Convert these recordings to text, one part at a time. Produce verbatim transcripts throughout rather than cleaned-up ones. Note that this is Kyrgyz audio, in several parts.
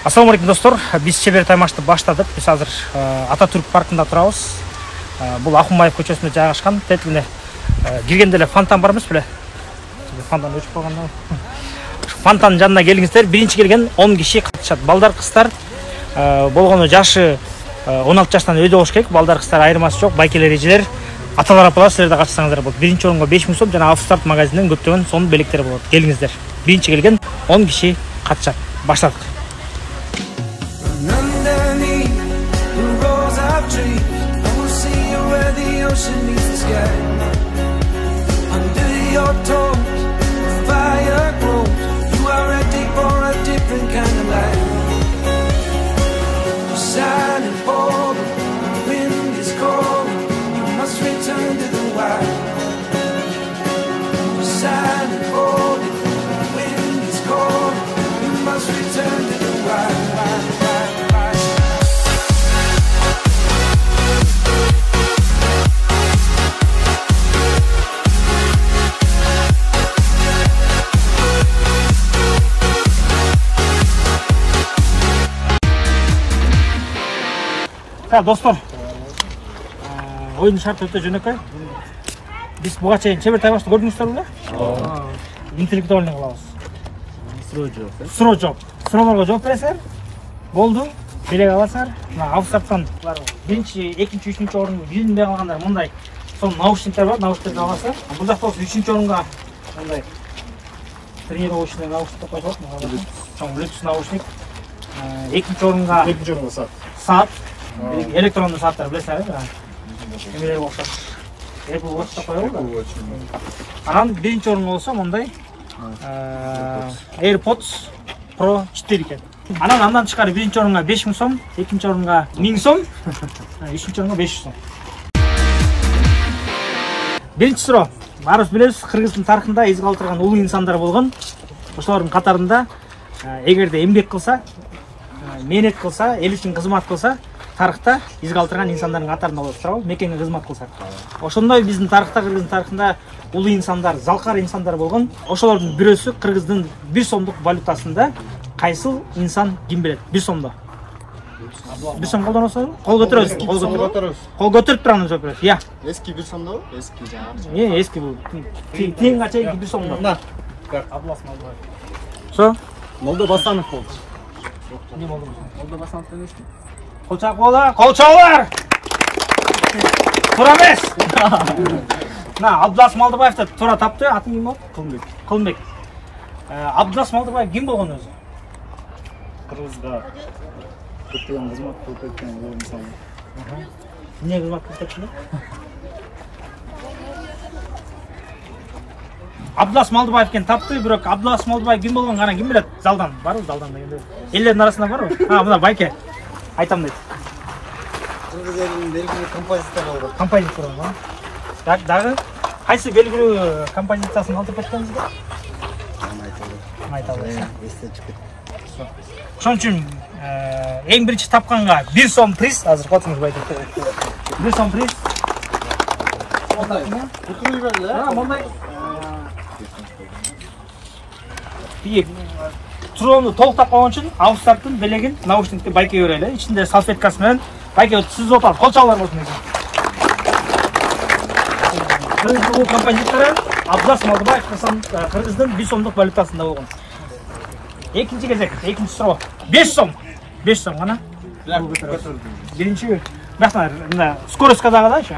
Ассаламу алейкум достор. Биз чебер таймашты баштадык. Биз азыр Ататүрк паркында турабыз. Бул Акунбаев көчөсүндө жайгашкан. Тетилине киргенде эле фонтан бар эмес беле? Фонтан өчүп калганда. Фонтандын жанына келиңиздер. Биринчи келген он киши катышат. Балдар, кыздар болгону жашы он алты жаштан өйдө болуш керек. Балдар, кыздар айырмасы жок. Байкелер, эжелер, аталар, апалар силер да катышсаңыздар болот. Биринчи орунга беш миң сом жана Автостарт магазининен көптөгөн сонун белектер болот. Келиңиздер. Биринчи келген он киши катышат. Баштадык. Ocean meets the sky. Under your toes, fire grows. You are ready for a different kind of life. You're silent, bold. The wind is cold. You must return to the wild. You're silent, bold. The wind is cold. You must return to the wild. wild, wild, wild. Достор, ойын шарты өтө жөнөкөй. Биз буга чейин чебер таймашты көрдүңүздөр беле? Ооба. Интеллектуальный кылабыз. Суроо жооп. Суроо жооп. Суроолорго жооп бересиңер. Болду. Белек аласыңар. Мына Автостарттан биринчи, экинчи, үчүнчү орунду билинбей калгандар мындай сонун наушниктер бар, наушниктерди аласыздар. Бул жакта болсо үчүнчү орунга мындай тренировочный наушник коюлат. Чоң Bluetooth наушник. Экинчи орунга экинчи орунга саат. Саат. Электрондуу сааттар билесиңер, эмелерге окшош. Apple Watch деп коёбуз да. Анан биринчи орунга болсо мындай AirPods Pro четыре экен. Анан андан тышкары биринчи орунга беш миң сом, экинчи орунга миң сом, үчүнчү орунга беш жүз сом. Биринчи суроо. Баарыбыз билебиз, Кыргыздын тарыхында из калтырган улуу инсандар болгон. Ошолордун катарында эгерде эмгек кылса, мээнет кылса, эл үчүн кызмат кылса, тарыхта из калтырган инсандардын катарында болот, туурабы? Мекенге кызмат кылсак. Ошондой биздин тарыхта, Кыргыздын тарыхында улуу инсандар, залкар инсандар болгон. Ошолордун бирөөсү Кыргыздын бир сомдук валютасында кайсыл инсан ким билет? бир сомдо. бир сом колдоносузбу? Кол көтөрөсүз. Кол көтөрөбүз. Кол көтөрүп турган жооп берет. Я. Эски бир сомдобу? Эски жаңы. Э, эски бул. Тыйынга чейинки бир сомдо. На. Аблас Молдобаев. Со? Молдо Басанов болду. Не болду? Молдо Басанов эмеспи? Кол чакуулар, кол чабуулар. Туура эмес. На, Абдулас Молдобаевди туура тапты. Атын ким болду? Кылмбек. Кылмбек. Абдулас Молдобаев ким болгон өзү? Кыргызга көптөгөн кызмат кылып кеткен улуу инсан. Эмне кызмат кылып кетти? Абдулас Молдобаевден тапты, бирок Абдулас Молдобаев ким болгон гана ким билет? Залдан барбы? Залдан дегенде. Элдердин арасында барбы? А, мына байке. Айтам дейт. Кыргыз элинин белгилүү композитору болгон. Композитор болгон. Так, дагы кайсы белгилүү композициясын калтырып кеткенсиз? Айта аласыз. Эсте чыгып кетти. Ошон үчүн эң биринчи тапканга бир сом приз, азыр котуңуз байке. бир сом приз. Мондай. Бүтүрүй беле? А, мондай. Бир Турону толуктап койгон үчүн Автостарттын белегин наушникти байке берели. Ичинде салфеткасы менен байке сүзүп атат. Кол чабуулар болсун экен. Кыргыздын композитору Абдулас Молдобаев Кыргыздын бир сомдук валютасында болгон. Экинчи кезек, экинчи суроо. беш сом. беш сом гана. Биринчи бакма, мына скоростька дагы да ошо.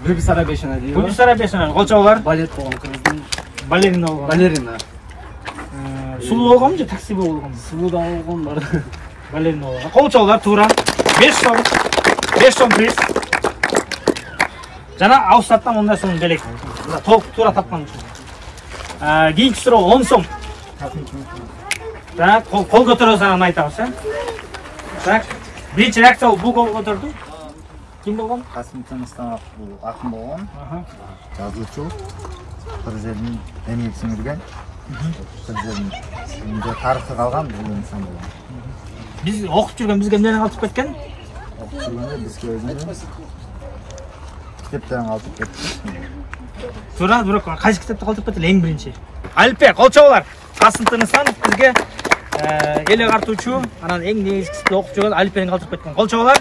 Бубисара бешена дейби. Бубисара бешена, кол чабуулар. Балет болгон Кыргыздын. Балерина болгон. Балерина. Сулуу болгонбу же такси болгон? Сулуу да болгон бар. Балерина болгон. Кол чабуулар туура. беш сом. беш сом приз. Жана Автостарттан мындай сонун белек. Толук туура тапкан үчүн. Кийинки суроо он сом. Так, кол көтөрөсүз анан айтабыз, э? Так, биринчи реакция бул кол көтөрдү. Ким болгон? Касым Тыныстанов бул акын болгон. Жазуучу. Кыргыз элинин эмгек сиңирген. Кыргыз элинин тарыхы калган бул инсан болгон. Биз окуп жүргөн бизге эмнени калтырып кеткен? Окуп жүргөндө бизге өзүнүн китептерин калтырып кетти. Туура, бирок кайсы китепти калтырып кетти? Эң биринчи. Алипбек, кол чабуулар. Касым Тыныстанов бизге эле картуучу, анан эң негизгиси окуп жүргөн алифбени калтырып кеткен. Кол чабалар.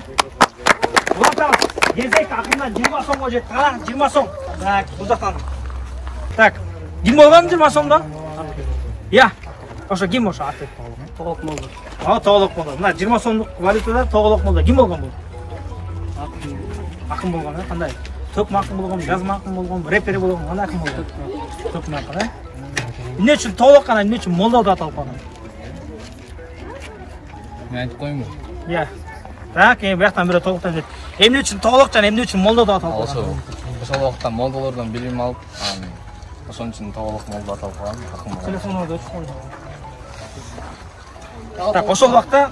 Улантабыз. Кезек акырынан жыйырма сомго жетти. Кара, жыйырма сом. Так, бул жактан. Так, ким болгон жыйырма сомдо? Я. Ошо ким ошо аты? Тоголок молдо. А, Тоголок молдо. Мына жыйырма сомдук валютада Тоголок молдо. Ким болгон бул? Акын болгон, кандай? Төк макын болгон, жазма акын болгон, рэпери болгон, кандай акын болгон? Төк макын, э? Эмне үчүн Тоголок анан эмне үчүн молдо деп аталып калган? Мен айтып коюмбу? Я. Так, эми бияктан бирөө Тоголоктон дейт. Эмне үчүн Тоголок жана эмне үчүн молдо деп аталып калган? Ошо ошол убакта молдолордон билим алып, ошон үчүн Тоголок молдо аталып калган. Акын болгон. Телефонду өчүп койду. Так, ошол убакта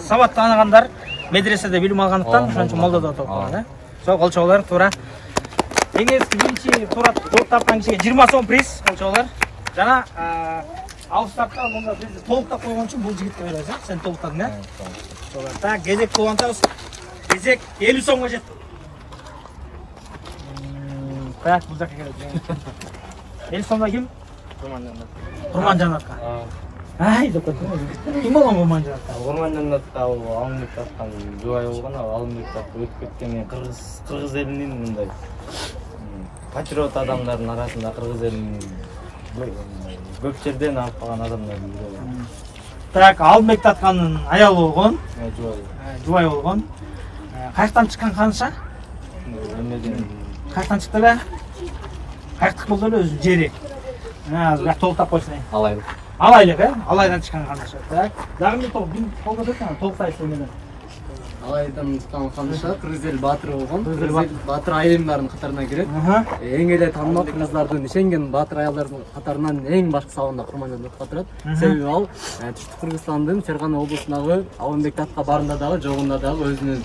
сабат тааныгандар медреседе билим алгандыктан ошон үчүн молдо деп аталып калган, э? Со, кол чабалар, туура. Эң эски биринчи туура жооп тапкан кишиге жыйырма сом приз, кол чабалар. Жана алыстапта мында бизди толуктап койгон үчүн бул жигитке беребиз, э? Сен толуктадың, э? Так, кезек улантабыз. Кезек элүү сомго жетти. Так, бул жакка келет. элүү сомдо ким? Курманжанатка. Ай, деп кетти. Ким болгон Курманжанатка? Курманжанатка Алымбек таткан жубай болгон, Алымбек так өтүп кеткени кыргыз кыргыз элинин мындай патриот адамдардын арасында кыргыз элинин көп жерден алып калган адамдардын бири. Так, Алымбек таткандын аялы болгон, Жубай. жубай болгон. Каяктан чыккан канша? Эмеден Каяктан чыкты эле? Каяктык болду эле өзүнүн жери. Азыр бак толуктап койсун. Алай. Алайлык, э? Алайдан чыккан канша. Так, дагы бир топ ким колго кеткен? Толуктайсыз менен. Алайдан чыккан канша кыргыз эл баатыры болгон. Кыргыз эл баатыр айылдардын катарына кирет. Эң эле таанымал кыргыздардын ишенген баатыр аялдардын катарынан эң башкы сабында Курманжанат турат. Себеби ал Түштүк Кыргызстандын Фергана облусундагы Алымбек татка барында дагы, жогунда дагы өзүнүн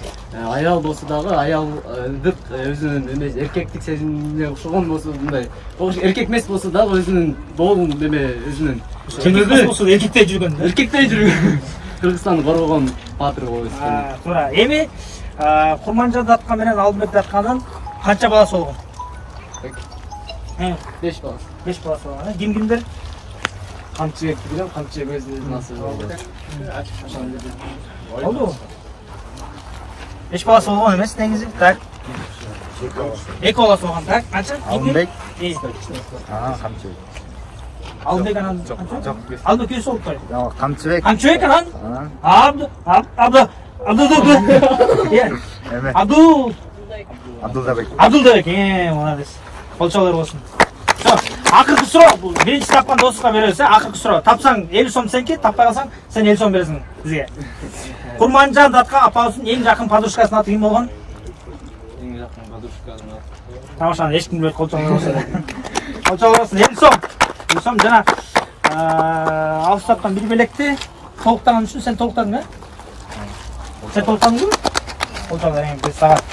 аял болсо дагы аялдык өзүнүн эмес эркектик сезимине окшогон болсо мындай эркек эмес болсо дагы өзүнүн доолун эме өзүнүн чынында эркектей жүргөн. Эркектей жүргөн. Кыргызстанды коргогон баатыр болуп өскөн. Туура. Эми Курманжанат татка менен Алымбек татканын канча баласы болгон? беш баласы. беш баласы болгон. Ким кимдер? Камчыбек билем, Камчыбек өзүнүн насыбы болду. Болду. беш баласы болгон эмес негизи. Так. эки баласы болгон. Так, канча? Алымбек. А, Камчыбек. Алымбек анан канча? Алымбек күйөөсү болуп койду. Жок, Камчыбек. Камчыбек анан? Абду, абду, абду, абду. Эме. Абду. Абдулдабек. Абдулдабек, э, молодец. Кол чабалар болсун. Всё, акыркы суроо бул биринчи тапкан досуңа беребиз, э? Акыркы суроо. Тапсаң элүү сом сеники, таппай калсаң сен элүү сом бересиң бизге. Курманжан татка апабыздын эң жакын подружкасынын аты ким болгон? эң жакын подружканын аты. Тамашаны эч ким билбейт, кол чабалар болсун. Кол чабалар болсун, элүү сом. элүү сом жана алыстаптан бир белекти толуктаган үчүн сен толуктадың, э? Сен толуктадыңбы? Кол чабалар эң бир сагат.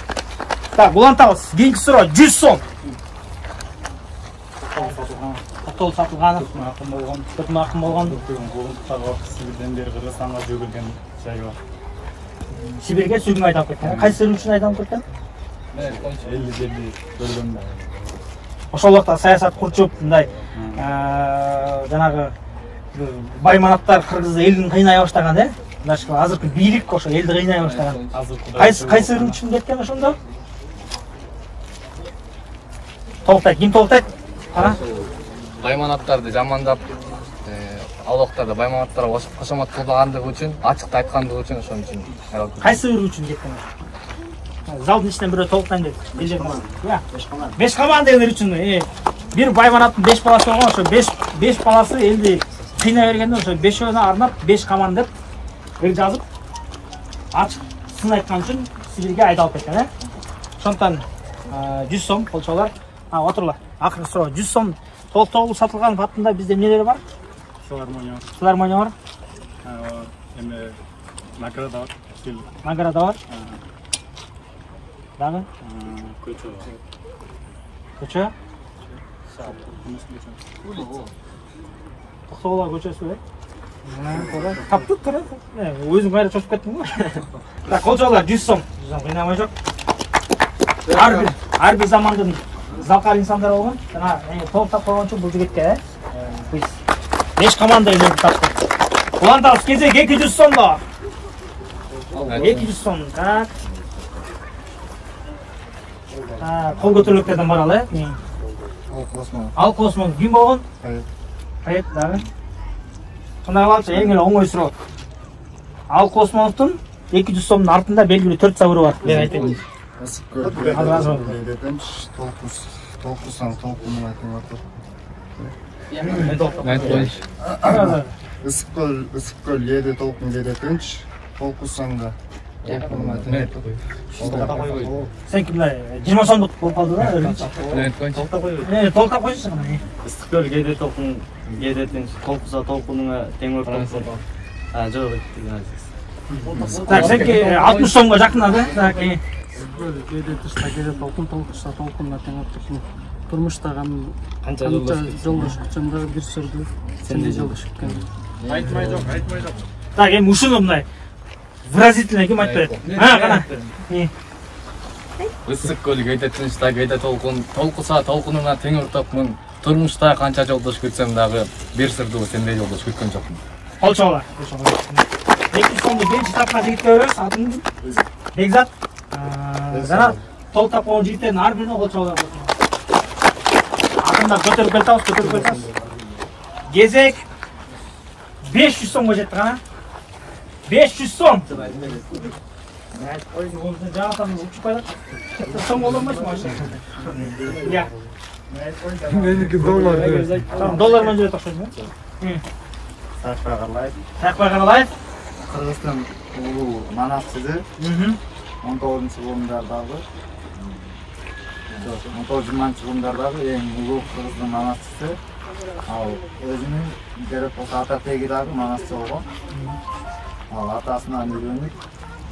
Так, улантабыз. Кийинки суроо жүз сом. Токтол сатылган, акын болгон, төтмө акын болгон. Сибирден бери Кыргызстанга жөгүлгөн жай бар. Сибирге сүйгүн айдап кеткен. Кайсы үчүн айдап кеткен? элүү жерди бөлгөн. Ошол убакта саясат курчуп, мындай жанагы байманаттар кыргыз элин кыйнай баштаган, э? Мындайча азыркы бийлик ошо элди кыйнай баштаган. Кайсы кайсы үчүн кеткен ошондо? Толуктайт, ким толуктайт? Кара. Байманаттарды жамандап, ал убактарда байманаттарга кошомат кылбагандыгы үчүн, ачыкты айткандыгы үчүн ошон үчүн. Кайсы бир үчүн кеткен? Залдын ичинен бирөө толуктайм деп. Элже команда. Я, беш команда. беш команда дегендер үчүн, бир байманаттын беш баласы болгон, ошо беш беш баласы элди кыйнай бергенде ошо бешөөнө арнап беш команда деп бир жазып ачык сын айткан үчүн Сибирге айдалып кеткен, э? Ошондон жүз сом кол чабалар. А, отурла. Акыркы суроо жүз сом толуктоо сатылган баттында бизде эмнелер бар? Филармония. Филармония бар. Эме награда бар. Награда бар. Дагы? Көчө. Көчө? Токтогулар көчөсү, э? Таптык тура. Өзүң кайра чочуп кеттиң го. Так, кол чабалар жүз сом. жүз сом кыйнамай жок. Ар бир ар бир замандын залкар инсандар болгон. Жана толуктап койгон үчүн бул жигитке, э? Биз беш команда эле таптык. улантабыз. Кезек эки жүз сомдо. эки жүз сом. Так. А, кол көтөрүлөктөрдөн баралы, э? Ал космо. Ал космо ким болгон? Кайыт. Кайыт дагы. Кандай кылабыз? Эң эле оңой суроо. Ал космонун эки жүз сомдун артында белгилүү төрт забыры бар. Мен айтайын. Ысык толкус, толкусан толкунун айтып атат. Айтып коюш. Ысык көл, ысык көл эде толкун кеде тынч, толкусанга. Сен кимлер жыйырма сомдук болуп калды да, өрүнчү. Айтып коюш. Э, толтап койсуң аны. Ыстык көл кээде толкун, кээде тынч, толкуса толкунуңа тең ортосу. А, жок деген азиз. Так, сенки алтымыш сомго жакын да. Так, кээде тышта кээде толкун, толкуса толкунга тең ортосу. Турмуштагы Канча жолдош күтсөм дагы бир сөрдү. Сенде жолдош күткөн. Айтмай жок, айтмай жок. так, эми ушуну мындай выразительно ким айтып берет? А, кана. Ысык көл кээде тынчта кээде толкун, толкуса толкунуна тең ортопмун. Турмушта канча жолдош күтсөм дагы бир сырдуу сендей жолдош күткөн жокмун. Олчола. эки жүз сомду биринчи тапкан жигитке беребиз. Атын Бекзат. Жана толтап койгон жигиттердин ар бирине олчола. Атында көтөрүп келатабыз, көтөрүп келатабыз. Кезек беш жүз сомго жетти кана. беш жүз сом. Жаңатан учуп коелат. Сом боло эмесми ошо? Я. Меники доллар. Доллар менен жүрөт окшойт го. Сакпай карлайт. Сакпай Каралаев. Кыргызстан улуу манасчысы. он тогузунчу жылдардагы. он тогуз жыйырманчы жылдардагы эң улуу Кыргыздын манасчысы. Ал өзүнүн керек болсо ата теги дагы манасчы болгон. Ал атасынан үйрөнүп,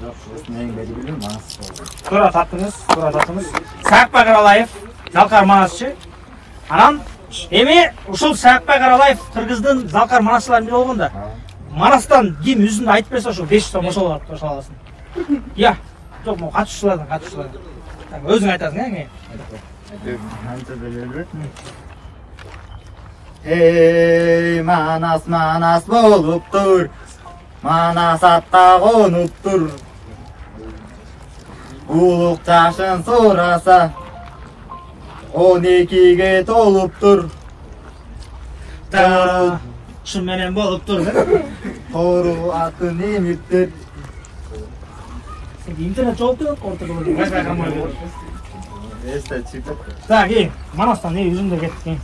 жок өзүнүн эң белгилүү манасчы болгон. Туура таптыңыз, туура таптыңыз. Сакпай Каралаев, Залкар манасчы. Анан эми ушул Сакпай Каралаев Кыргыздын Залкар манасчыларынын бири болгон да. Манастан ким өзүн айтып берсе ошо беш жүз сом ошол ошол аласың. Я, жок, могу катышуулардан, катышуулардан. Өзүң айтасың, эми. Анча белелүү. Эй, манас манас болуптур. Манас атта конуптур. Улук жашын сураса он экиге толуптур. Таа, шын менен болуптур. Тору атын эмиптер. Сен интернет жооп берет, ортодо болду. Кайсы камай болду. Эсте чипет. Так, эй, манастан эй өзүң да кеттиң.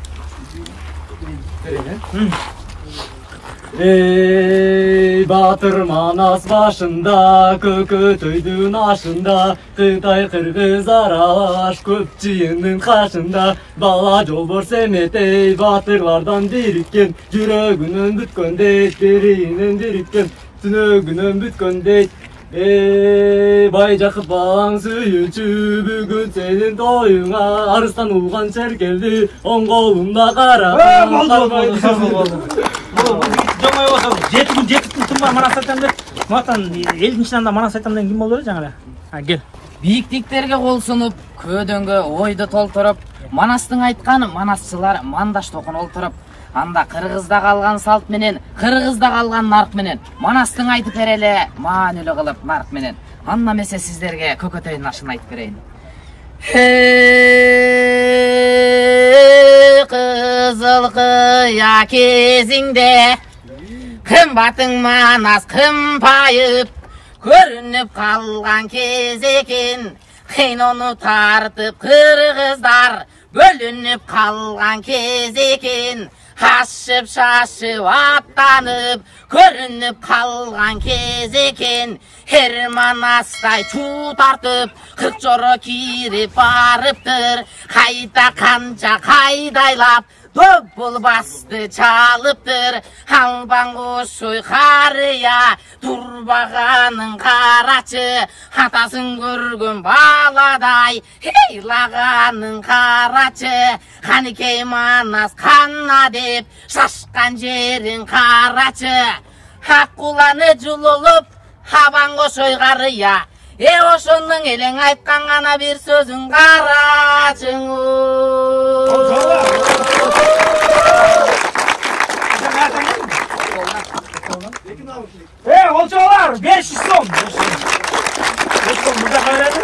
Эй, батыр манас башында, көкөтөйдүн ашында, Кытай кыргыз аралаш көп жыйындын кашында, бала жолборс эметей, батырлардан бириккен, жүрөгүнөн бүткөндөй, берийинен бириккен, түнөгүнөн бүткөндөй. Эй, бай жакып балаң сүйүүчү, бүгүн сенин тоюңа, арыстан улган черкелди, оң колумда кара. Болду, болду, болду. Жоңой болсо жети күн жети күн тынбай манас айтам деп, мактан элдин ичинде манас айтам деген ким болду эле жаңы эле? А, кел. Бийиктиктерге кол сунуп, көөдөнгө ойду толтуруп, манастың айтканы манасчылар мандаш токун олтуруп, анда Кыргызда калган салт менен, Кыргызда калган нарк менен, манастың айтып береле, маанилүү кылып нарк менен. Анда эмесе сиздерге көкөтөйдүн ашын айтып берейин. Кызыл кыя кезиңде, кымбатың манас кымпайып, көрүнүп калган кез экен, кыйнону тартып кыргыздар, бөлүнүп калган кез экен, ашып шашып аттанып, көрүнүп калган кез экен, эр манастай чуу тартып, кырк жоро кирип барыптыр, кайта канча кайдайлап, допул басты чалыптыр, албан кошой карыя, турбаганын карачы, атасын көргөн баладай, ыйлаганын карачы, каныкей манас канна деп, шашкан жерин карачы, ак куланы жулулуп, абан кошой карыя, э ошондун элең айткан гана бир сөзүн карачыңуу. Эй, олчолар, besh yuz сом. besh сом мында кайрады.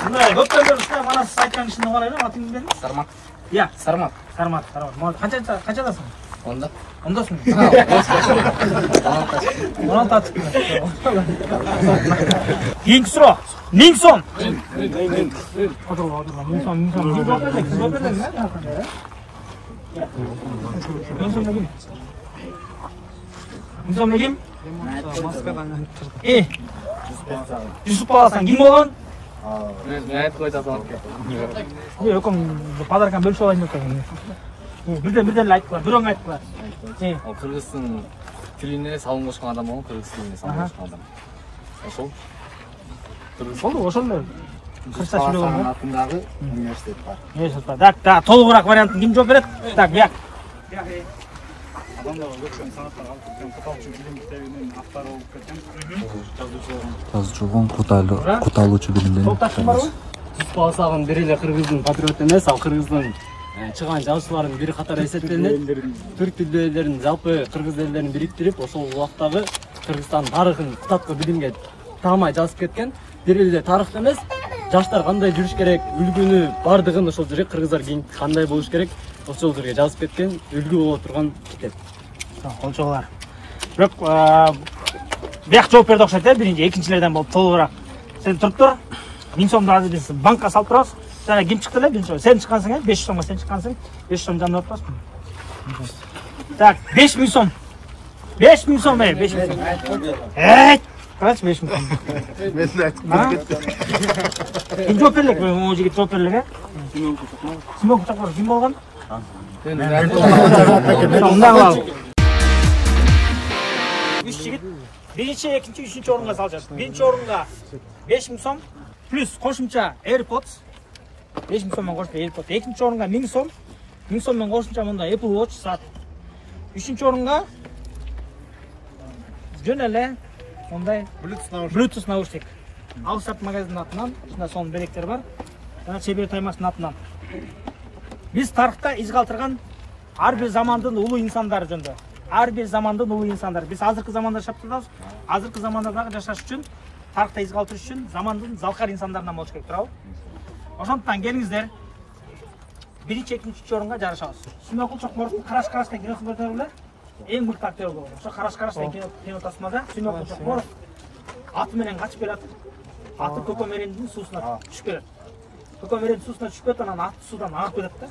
Мындай көптөн бери ушундай мана сиз айткан кишини карайлы, атыңыз бериңиз. Сармат. Я, Сармат. Сармат, Сармат. Канча канчадасың? Онда. Ондасың. он алты атып. Кийинки суроо. ming сом. Отур, отур. ming сом, ming сом. Сиз жооп бердиңиз, сиз жооп бердиңиз, э? ming сом ким? ming сом ким? Э. Жүсүп баласан ким болгон? Мен айтып койдум. Өкөм подарканы бөлүшүп алайын деп койгон. Бирден бирден эле айтып кой, бирөөң айтып кой. Ал кыргыздын тилине салым кошкон адам болгон, кыргыз тилине салым кошкон адам. Ошол. Болду, ошол эле. Кыргызча сүйлөгөн атындагы университет бар. Университет бар. Так, так, толугураак вариантын ким жооп берет? Так, бияк. Адамдар көчкөн санаттар алып кеткен, куталчу билим китебинин автору болуп кеткен. Жазуучу болгон, куталуучу билимден. Топташың барбы? Балсагын бир эле кыргыздын патриоты эмес, ал кыргыздын чыган жазуучулардын бири катары эсептелинет. Түрк тилдүү элдерин, жалпы кыргыз элдерин бириктирип, ошол убактагы Кыргызстан тарыхын кутаткы билимге таамай жазып кеткен. Бир эле тарыхты эмес, жаштар кандай жүрүш керек, үлгүнү бардыгын ошол жерге кыргыздар кийин кандай болуш керек, ошол жерге жазып кеткен, үлгү боло турган китеп. Олчоголар. Бирок бияк жооп берди окшойт э, биринчи, экинчилерден болуп толугураак. Сен туруп тур. ming сомду азыр биз банкка салып турабыз. Жана ким чыкты эле биринчи? Сен чыккансың э, besh yuz сомго сен чыккансың. besh yuz сом жанына отпаспы? Так, besh ming сом. besh ming сом э, besh ming сом. Эйт, карачы besh ming сом. Мен айтып кетти. Ким жооп берлек? Могу жигит жооп берлек э? Симон Кучаков ким болгон? Мындай кылалы. Үч жигит биринчи, экинчи, үчүнчү орунга салышат. Биринчи орунга besh ming сом плюс кошумча AirPods. besh ming сомдон кошуп AirPods. Экинчи орунга ming сом. ming сомдон кошумча мында Apple Watch саат. Үчүнчү орунга жөн эле мындай Bluetooth наушник. Алсат магазинин атынан, ушундай сонун белектер бар. Жана Чебер Таймаштын атынан. Биз тарыхта из калтырган ар бир замандын улуу инсандары жөнүндө. Ар бир замандын улуу инсандары. Биз азыркы заманда жашап турабыз. Азыркы заманда дагы жашаш үчүн, тарыхта из калтырыш үчүн замандын залкар инсандарынан болуш керек турабы? Ошондуктан келиңиздер. Биринчи, экинчи, үчүнчү орунга жарышабыз. Сүймөкул Чокморовдун Караш Караш деген киносун көрдүңөр беле? Эң мыкты актер болгон. Ошо Караш Караш деген кино тасмада Сүймөкул Чокморов аты менен качып келат. Аты Көкөмерендин суусуна түшүп келет. Көкөмерендин суусуна түшүп кетип, анан аты суудан агып кетет да.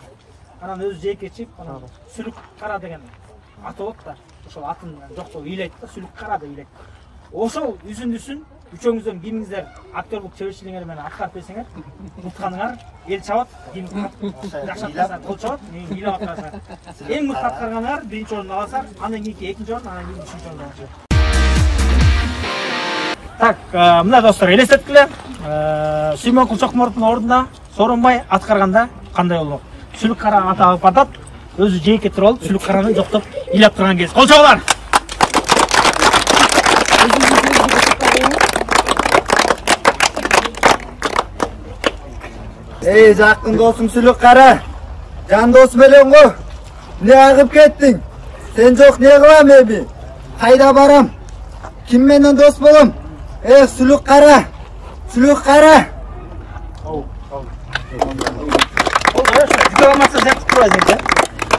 Анан өзү жээкке ичип, анан Сүлүк Кара деген аты болот да. Ошол атын жоктоо ыйлайт да, Сүлүк Кара деп ыйлайт. Ошол үзүндүсүн үчөөңүздөн кимиңиздер актерлук чеберчилигиңер менен аткарып берсеңер, утканыңар эл чабат, ким жакшы аткарса кол чабат, ыйлап аткарса. Эң мыкты аткарганыңар биринчи орунду аласар, андан кийинки экинчи орун, андан кийин үчүнчү орунду аласар. Так, мына достор, элестеткиле. Сүймөкул Чокморовдун ордуна Сооронбай аткарганда кандай болмок? Сүлүк Кара аты алып атат, өзү жээкке туруп алып, Сүлүк Караны жоктоп ыйлап турган кез. Кол чабуулар. Эй, жакын досум Сүлүк Кара. Жан досум элең го. Эмне агып кеттиң? Сен жок не кылам эми? Кайда барам? Ким менен дос болом? Эх, Сүлүк Кара. Сүлүк Кара. Ол, ол. Ол хорошо, жүгө алмаса зяп турбайсың да.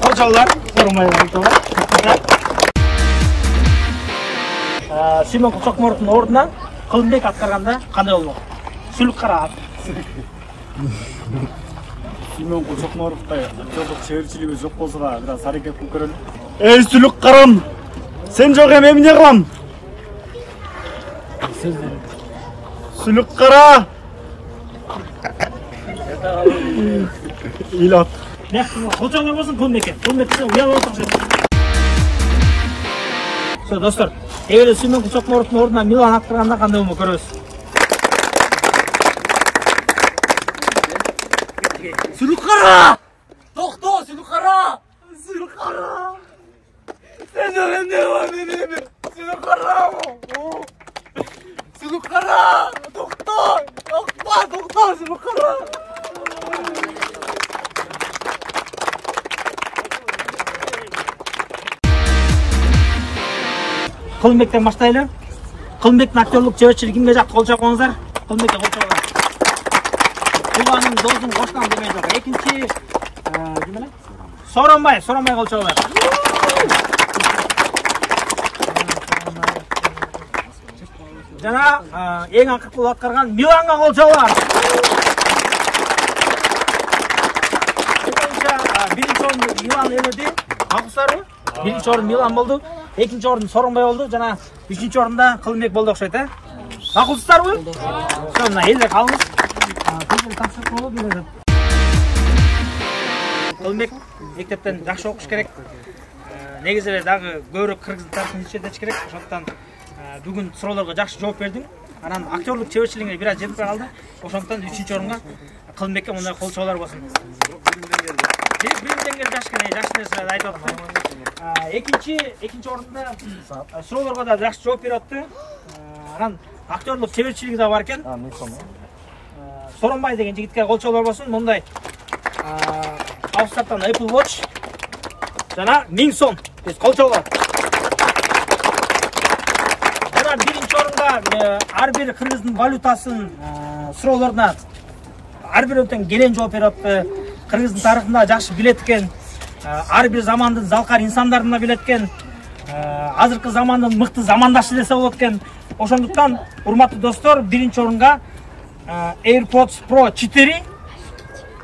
Кол чабуулар, Сооронбай айтабар. Сүймөкул Чокморовдун ордуна Кылымбек аткарганда кандай болмок? Сүлүк Кара аты. Сүймөкул Чокморовдой актерлук чеберчилиги жок болсо да, бир аз аракет кылып көрөлү. Эй, Сүлүк Карам! Сен жок эми эмне кылам? Сүлүк Кара! Ыйлап. Бияк кочоңор болсун Кылымбекке. Кылымбекке уялып отурушат. Со, достор, эгерде Сүймөкул Чокморовдун ордуна Милан аткарганда кандай болмок көрөбүз. Сүлүк Кара! Токто, Сүлүк Кара! Сүлүк Кара! Сен жок эмне кылам эми? Сүлүк Кара! Сүлүк Кара! Токто! Токто, токто, Сүлүк Кара! Кылымбектен баштайлы. Кылымбектин актерлук жебетчилиги кимге жакты кол чапкыңыздар? Кылымбекке кол чапыңыздар. Тууганым, досум, коштам демей жок. Экинчи ким эле? Соронбай, Соронбай кол чапыңыздар. Жана эң акыркы аткарган Миланга кол чапыңыздар. Биринчи орунду Милан ээледи. Аксарбы? Биринчи орун Милан болду. Экинчи орун Соронбай болду. Жана үчүнчү орунда Кылымбек болду окшойт, э? Макулсуздарбы? Ошо мына элде калыңыз. Көздөр тапшырып болот берет. Кылымбек мектептен жакшы окуш керек. Негизи эле дагы көбүрөөк кыргыз тарыхын изчетиш керек. Ошондуктан бүгүн суроолорго жакшы жооп бердиң. Анан актерлук чеберчилигиңе бир аз жетпей калды. Ошондуктан үчүнчү орунга Кылымбекке мындай кол чабуулар болсун. Биримден келип жаш кene жакшы нерселерди айтып атты. Экинчи экинчи орунда суроолорго да жакшы жооп берип атты. Анан актерлук чеберчилиги да бар экен. Соронбай деген жигитке кол чабуулар болсун. Мындай Австриядан Apple Watch жана миң сом. Биз кол чабуулар. Жана биринчи орунга ар бир кыргыздын валютасын суроолоруна ар бирөөтөн келен жооп берип атты. Кыргыздын тарыхында жакшы билет экен. Ар бир замандын залкар инсандарын да билет экен. Азыркы замандын мыкты замандашы десе болот экен. Ошондуктан, урматтуу достор, биринчи орунга AirPods Pro четыре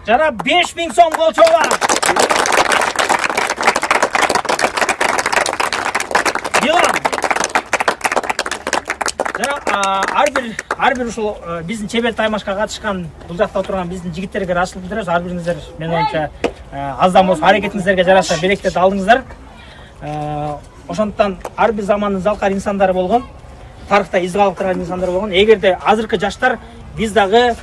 жана беш миң сом кол чабуулар. Милан. Жана ар бир ар бир ушул биздин чебер таймашка катышкан, бул жакта отурган биздин жигиттерге ырашчылык билдиребиз. Ар бириңиздер мен оюмча аздан болсо аракетиңиздерге жараша берекет алдыңыздар. Ошондуктан ар бир замандын залкар инсандары болгон, тарыхта из калдырган инсандар болгон. Эгерде азыркы жаштар биз дагы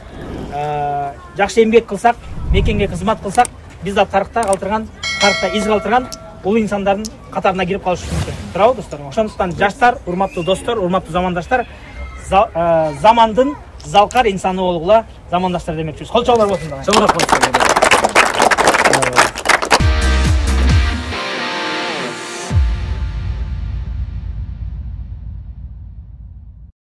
жакшы эмгек кылсак, мекенге кызмат кылсак, биз да тарыхта калтырган, тарыхта из калтырган улуу инсандардын катарына кирип калышыбыз мүмкүн. Туурабы достор? Ошондуктан жаштар, урматтуу достор, урматтуу замандаштар, замандын залкар инсаны болгула замандаштар демекчибиз. Кол чабуулар болсун. Чоңураак болсун.